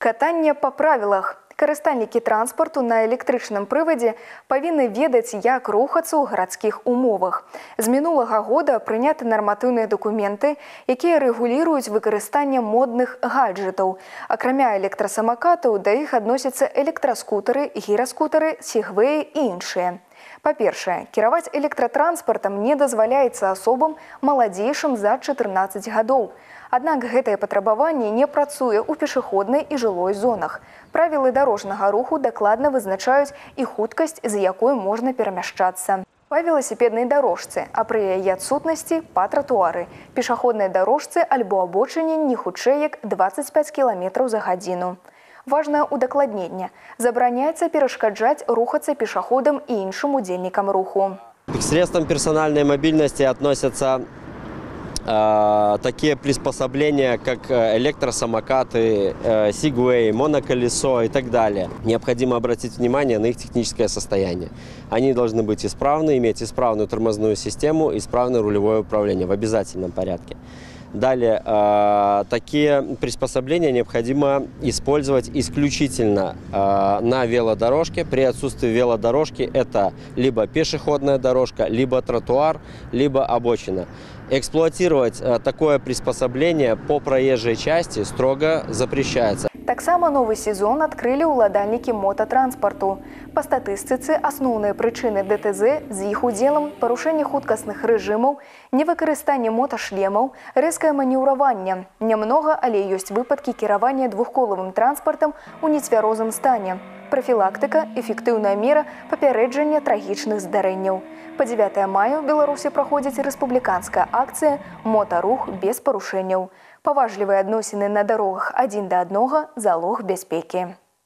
Катанне па правілах. Карыстальнікі транспарту на электрычным прывадзе павінны ведаць, як рухацца ў гарадскіх умовах. З мінулага года прыняты нарматыўныя дакументы, якія рэгуліруюць выкарыстанне модных гаджетаў. Акрамя электрасамакатаў, да іх адносяцца электраскутары, гіраскутары, сегвеі і іншыя. Па-першае, кіраваць электратранспартам не дазваляецца асобам маладзейшым за 14 гадоў. Аднак гэтае патрабаванне не працуе ў пешаходнай і жылой зонах. Правілы дарожнага руху дакладна вызначаюць і хуткасць, з якой можна перамяшчацца. Па веласіпеднай дарожцы, а пры яе адсутнасці па тратуары, пешаходнай дарожцы альбо абочыне не хутчэй як 25 км за гадзіну. Важнае удакладненне. Забараняецца перашкаджаць рухацца пешаходам і іншым удзельнікам руху. К средствам персональной мобильности относятся такие приспособления, как электросамокаты, сегвей, моноколесо и так далее. Необходимо обратить внимание на их техническое состояние. Они должны быть исправны, иметь исправную тормозную систему, исправное рулевое управление в обязательном порядке. Далее, такие приспособления необходимо использовать исключительно на велодорожке. При отсутствии велодорожки это либо пешеходная дорожка, либо тротуар, либо обочина. Эксплуатировать такое приспособление по проезжей части строго запрещается. Таксама новы сезон адкрылі ўладальнікі мотатранспарту. Па статыстыцы, асноўныя прычыны ДТЗ з іх удзелам парушэнне хуткасных рэжымаў, невыкарыстанне моташлемаў, рэзкае маніўраванне. Нямнога, але ёсць выпадкі кіравання двухколавым транспартам у нецвярозым стане. Прафілактыка – эфектыўная мера папярэджання трагічных здарэнняў. Па 9 мая ў Беларусі праходзіць рэспубліканская акцыя «Мотарух без парушэнняў». Паважлівыя адносіны на дарогах адзін да аднога – залог бяспекі.